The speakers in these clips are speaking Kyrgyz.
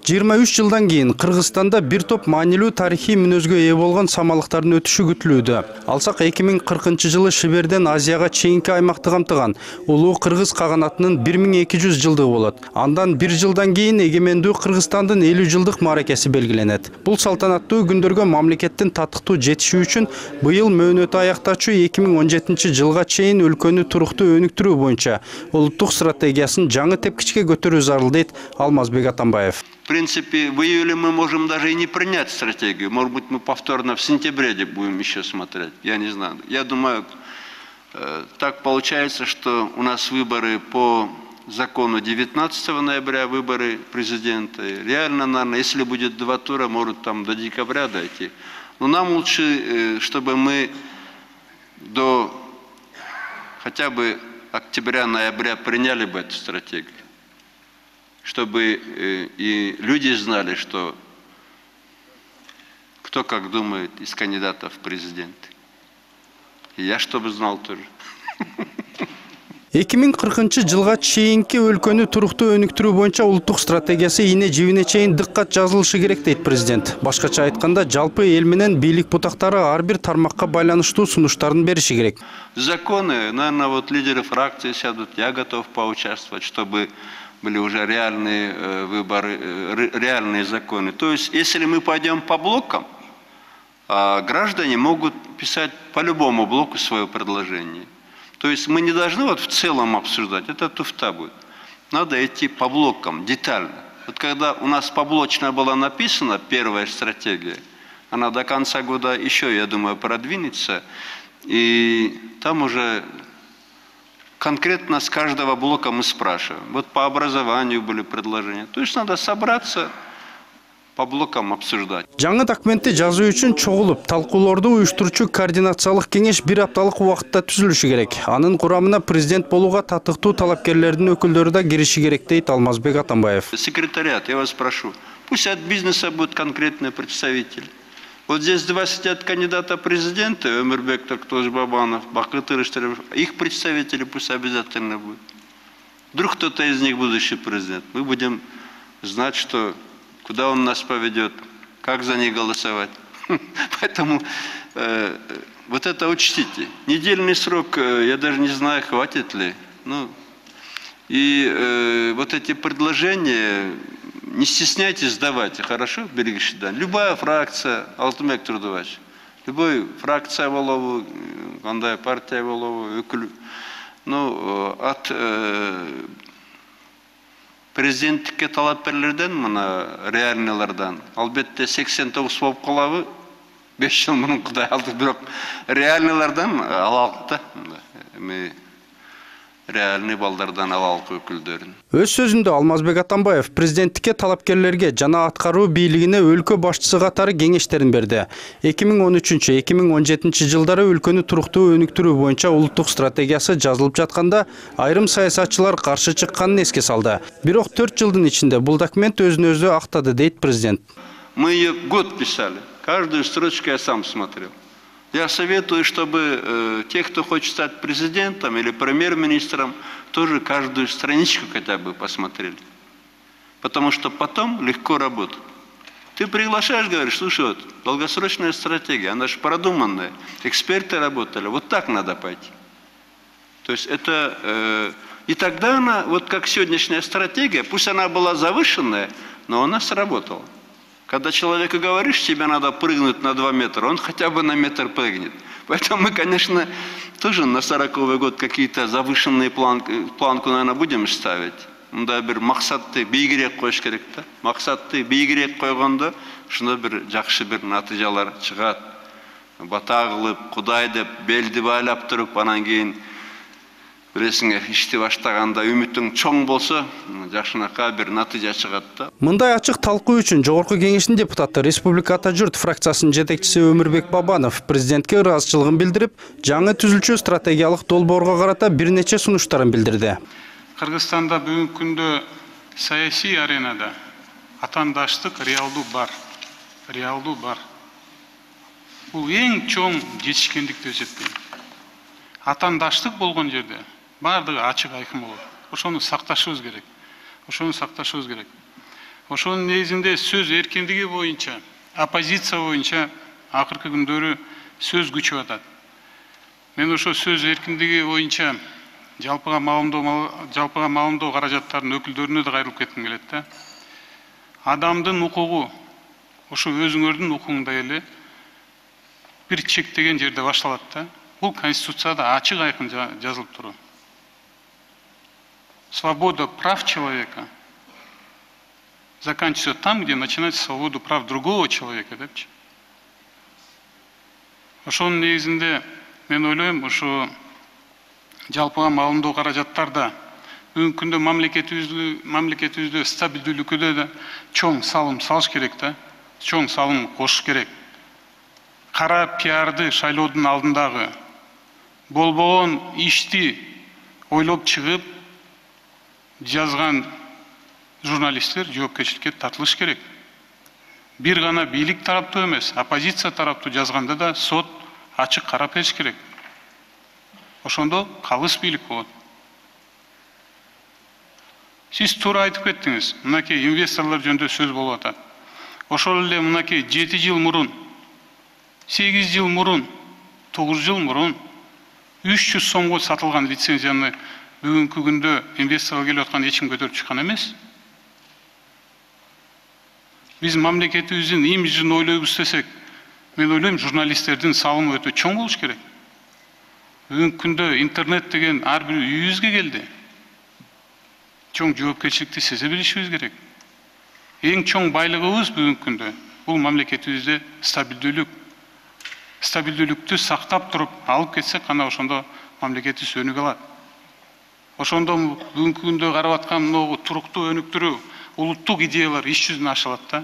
23 жылдан кийин Кыргызстанда бир топ маанилүү тарыхый мүнөзгө ээ болгон самалыктардын өтүшү күтүлүүдө. Алсак 2040 жылы Шиберден Азияга чейинки аймакты камтыган улуу кыргыз каганатынын 1200 жылдыгы болот. Андан бир жылдан кийин эгемендүү Кыргызстандын 50 жылдык мааракеси белгиленет. Бул салтанаттуу күндөргө мамлекеттин татыктуу жетиши үчүн быйыл мөөнөтү аяктачу 2017 жылга чейин өлкөнү туруктуу өнүктүрүү боюнча улуттук стратегиясын жаңы тепкичке көтөрүү зарыл, дейт Алмазбек Атамбаев. В принципе, в июле мы можем даже и не принять стратегию. Может быть, мы повторно в сентябре будем еще смотреть. Я не знаю. Я думаю, так получается, что у нас выборы по закону 19 ноября, выборы президента. Реально, наверное, если будет 2 тура, может там до декабря дойти. Но нам лучше, чтобы мы до хотя бы октября-ноября приняли бы эту стратегию. Чтобы и люди знали, что кто как думает из кандидатов в президенты. И я чтобы знал тоже. 2040 жылга чейинки өлкөнү туруктуу өнүктүрүү боюнча улуттук стратегиясы ийне жибине чейин дыккат жазылышы керек, дейт президент. Башкача айтканда, жалпы эл менен бийлик бутактары ар бир тармакка байланыштуу сунуштарын бериши керек. Законы, наверное, вот лидеры фракции сядут, я готов поучаствовать, чтобы были уже реальные выборы, реальные законы. То есть, если мы пойдем по блокам, граждане могут писать по любому блоку свое предложение. То есть мы не должны вот в целом обсуждать, это туфта будет. Надо идти по блокам, детально. Вот когда у нас поблочно была написана первая стратегия, она до конца года еще, я думаю, продвинется, и там уже конкретно с каждого блока мы спрашиваем. Вот по образованию были предложения. То есть надо собраться, по блокам обсуждать. Жаңы документти жазуу үчүн чогулуп, талкуулоорду уюштуруучу координациялык кеңеш 1 апталык убакытта түзүлүшү керек. Анын курамына президент болууга татыктуу талапкерлердин өкүлдөрү да кириши керек, дейт Алмазбек Атамбаев. Секретариат, я вас прошу, пусть от бизнеса будет конкретный представитель. Вот здесь 2 сидят кандидата президента, Өмүрбек Токтожбабанов, Бакыт Ырыштырев, их представители пусть обязательно будут. Вдруг кто-то из них будущий президент. Мы будем знать, что куда он нас поведет, как за них голосовать. Поэтому вот это учтите. Недельный срок, я даже не знаю, хватит ли. Ну, и вот эти предложения, не стесняйтесь, давайте, хорошо, Берегишидан. Любая фракция, Алтынбек Турдубаевич, любой фракция болобу, кандай партия болобу, өкүл, ну, от президенттикке талапкерлерден, мына реальныйлардан, албетте 89 болуп калабы, 5 жыл мурун Кудай алды, бирок реальныйлардан алалык да. Эми реальный балдардан алалык өкүлдөрүн. Өз сөзүндө Алмазбек Атамбаев президенттикке талапкерлерге жана аткаруу бийлигине өлкө башчысы катары кеңештерин берди. 2013-2017 жылдары өлкөнү туруктуу өнүктүрүү боюнча улуттук стратегиясы жазылып жатканда айрым саясатчылар каршы чыкканын эске салды. Бирок 4 жылдын ичинде бул документ өзүн өзү актады, дейт президент. Мы ее год писали, каждую строчку я сам смотрел. Я советую, чтобы те, кто хочет стать президентом или премьер-министром, тоже каждую страничку хотя бы посмотрели. Потому что потом легко работать. Ты приглашаешь, говоришь, слушай, вот, долгосрочная стратегия, она же продуманная, эксперты работали, вот так надо пойти. То есть это... и тогда она, вот как сегодняшняя стратегия, пусть она была завышенная, но она сработала. Когда человеку говоришь, тебе надо прыгнуть на 2 метра, он хотя бы на метр прыгнет. Поэтому мы, конечно, тоже на 40-й год какие-то завышенные планку, наверное, будем ставить. Мында бир максатты бийигирээк коюш керек да. Максатты бийигирээк койгондо, шуна бир жакшы бир натыйжалар чыгат. Бата кылып, Кудай деп, белди байлап туруп, анан кийин Билесиңер, ишти баштаганда үмүтүң чоң болсо, жакшынакай бир натыйжа чыгат да. Мындай ачык талкуу үчүн Жогорку Кеңештин депутаты Республика Ата Журт фракциясынын жетекчиси Өмүрбек Бабанов президентке ыраазычылыгын билдирип, жаңы түзүлчү стратегиялык долбоорго карата бир нече сунуштарын билдирди. Кыргызстанда бүгүнкү күндө саясий аренада атаандаштык реалдуу бар. Реалдуу бар. Бул эң чоң жетишкендикти эсептейм. Атаандаштык болгон жерде бардыгы ачык айкын болот. Ошону сакташыбыз керек. Ошонун негизинде сөз эркиндиги боюнча, оппозиция боюнча акыркы күндөрү сөз күчүп атат. Мен ошо сөз эркиндиги боюнча жалпыга маалымдоо каражаттарынын өкүлдөрүнө да кайрылып кетким келет да. Адамдын укугу ошо өзүңөрдүн укугуңдай эле бир чектеген жерде башталат да. Бул Конституцияда ачык айкын жазылып турат. Свобода прав человека заканчивается там, где начинается свобода прав другого человека, депчи. Ошонун негизинде мен ойлойм, ошо жалпыга маалымдоо каражаттарда бүгүнкү күндө мамлекетибизде стабилдүүлүккө да чоң салым салыш керек да, чоң салым кошуш керек. Кара пиарды шайлоодун алдындагы болбогон ишти ойлоп чыгып жазган журналисттер жоопкерчиликке тартылыш керек. Бир гана бийлик тараптуу эмес, оппозиция тараптуу жазганда да сот ачык карап бериш керек. Ошондо калыс бийлик болот. Сиз туура айтып кеттиңиз. Мынакей инвесторлор жөнүндө сөз болуп атат. Ошол эле мынакей 7 жыл мурун, 8 жыл мурун, 9 жыл мурун 300 сомго сатылган лицензияны бүгүнкү күндө инвесторго келип аткан эч ким көтөрүп чыккан эмес. Биз мамлекетибиздин имиджин ойлойбуз десек, мен ойлойм, журналисттердин салымы өтө чоң болуш керек. Бүгүнкү күндө интернет деген ар бир үйүбүзгө келди. Чоң жоопкерчиликти сезе билишибиз керек. Эң чоң байлыгыбыз бүгүнкү күндө бул мамлекетибизде стабилдүүлүк. Стабилдүүлүктү сактап туруп алып кетсек, кана ошондо мамлекетибиз өнүгө алат. Ошондо бүгүнкү күндө карап аткан могу туруктуу өнүктүрүү, улуттук идеялар иш жүзүнө ашылат да.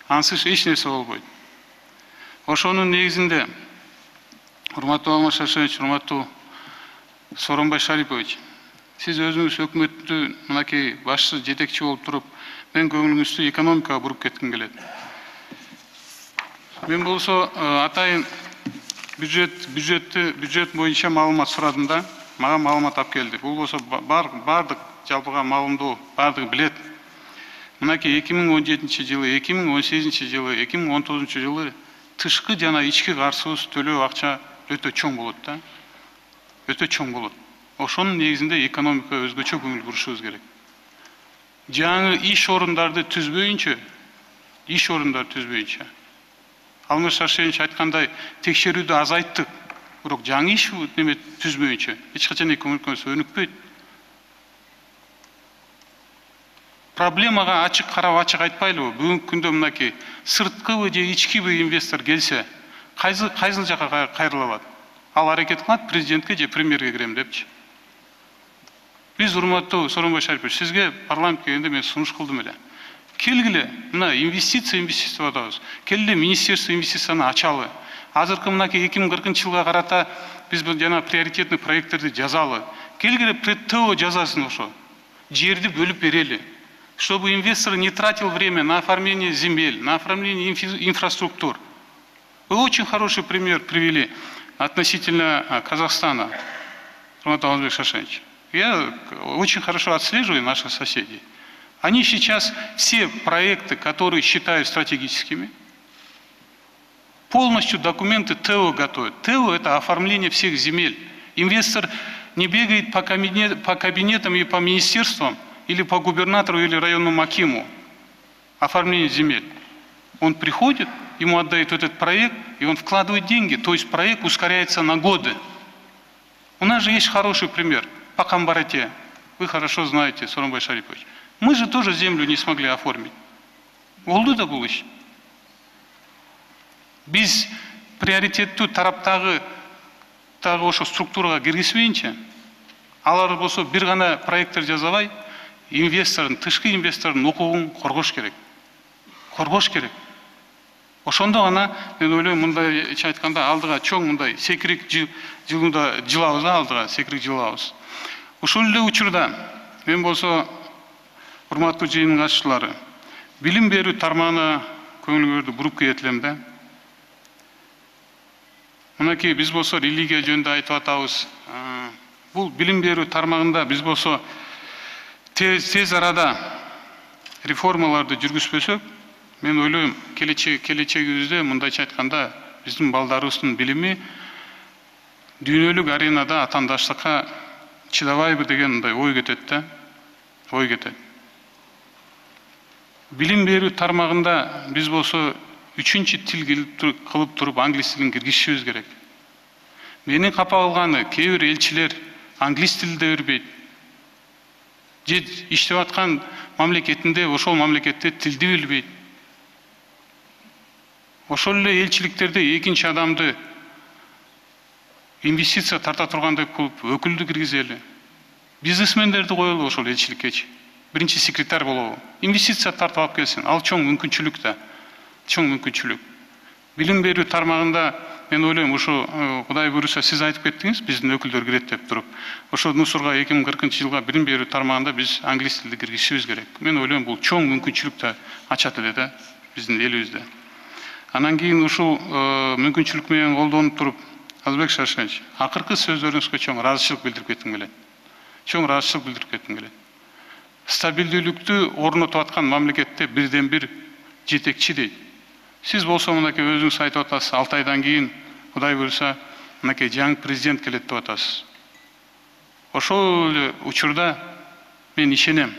Ансыз эч нерсе болбойт. Ошонун негизинде, урматтуу Алмаз Шаршенович, урматтуу Сооронбай Шарипович, сиз өзүңүз өкмөттү мынакей башчы, жетекчи болуп туруп, мен көңүлүңүздү экономикага буруп кетким келет. Мен болсо атайын бюджет боюнча маалымат сурадым да, мага маалымат алып келди. Бул болсо бардык жалпыга маалымдоо бардыгы билет. Мынакей 2017 жылы, 2018 жылы, 2019 жылы тышкы жана ички карсыбыз төлөө акча өтө чоң болот да. Өтө чоң болот. Ошонун негизинде экономикага өзгөчө көңүл бурушубуз керек. Жаңы иш орундарды түзбөйүнчө, Алмаз Шаршенович айткандай текшерүүдү азайттык, бирок жаңы иш түзбөйүнчө эч качан экономикабыз өнүкпөйт. Проблемага ачык карап ачык айтпайлыбы? Бүгүнкү күндө мынакей сырткыбы же ичкиби инвестор келсе, кайсыл жака кайрылат? Ал аракет кылат президентке же премьерге кирем депчи. Биз урматтуу Сооронбай Шарипович, сизге парламентке келгенде мен сунуш кылдым эле. Келгиле, мына инвестиция атабыз. Келгиле министерство инвестицияны ачалы. Азыркы мынакей 2040 жылга карата биз жана приоритетный проекттерди жазалы. Келгиле ТО жазасын ошо. Жерди бөлүп берели. Чтобы инвестор не тратил время на оформление земель, на оформление инфраструктур. Вы очень хороший пример привели относительно Казахстана, Алмаз Шаршенович. Я очень хорошо отслеживаю наших соседей. Они сейчас все проекты, которые считают стратегическими, полностью документы ТО готовят. ТО – это оформление всех земель. Инвестор не бегает по кабинетам и по министерствам, или по губернатору, или районному акиму, оформление земель. Он приходит, ему отдают этот проект, и он вкладывает деньги. То есть проект ускоряется на годы. У нас же есть хороший пример. По Камбарате. Вы хорошо знаете, Сооронбай Шарипович. Мы же тоже землю не смогли оформить. Болду да бул иш. Биз приоритеттүү тараптагы ошо структурага киргизбейинче, алар болсо бир гана проекттер жазабай, инвестордун, тышкы инвестордун укугун коргош керек. Ошондо гана мен ойлойм, мындайча айтканда алдыга чоң мындай секирик жылында жылабыз, алдыга секирик жылабыз. Ушул эле учурда мен болсо урматтуу жыйындын катышчылары, билим берүү тармагына көңүлүңөрдү буруп кетелем да. Мынакей биз болсо религия жөнүндө айтып атабыз. Бул билим берүү тармагында биз болсо тез арада реформаларды жүргүзбөсөк, мен ойлойм, келечегибизде мындайча айтканда биздин балдарыбыздын билими дүйнөлүк аренада атаандаштыкка чыдабайбы деген мындай ой кетет да, ой кетет. Билим берүү тармагында биз болсо үчүнчү тил кылып туруп англис тилин киргизишибиз керек. Менин капа кылганы кээ бир элчилер англис тилде бербейт. Же иштеп аткан мамлекетинде ошол мамлекетте тилди билбейт. Ошол эле элчиликтерде экинчи адамды инвестиция тарта тургандай кылып өкүлдү киргизели. Бизнесмендерди коелу ошол элчиликкечи. Биринчи секретарь болобу. Инвестиция тартып алып келсин. Ал чоң мүмкүнчүлүк да. Чоң мүмкүнчүлүк. Билим берүү тармагында мен ойлойм, ошо Кудай буйруса сиз айтып кеттиңиз, биздин өкүлдөр кирет деп туруп. Ошо Нусурга 2040-жылга билим берүү тармагында биз англис тилди киргизишибиз керек. Мен ойлойм, бул чоң мүмкүнчүлүк да ачат эле да биздин элибизде. Анан кийин ушул мүмкүнчүлүк менен колдонуп туруп, Азбек Шаршенович, акыркы сөздөрүңүзгө чоң ыраазычылык билдирип кетким келет. Чоң ыраазычылык билдирип кетким келет. Стабилдүүлүктү орнотуп аткан мамлекетте бирден бир жетекчи дейт. Сиз болсо мынакей өзүңүз айтып атасыз, 6 айдан кийин Кудай буйруса мынакей жаңы президент келет деп атасыз. Ошол эле учурда мен ишенем.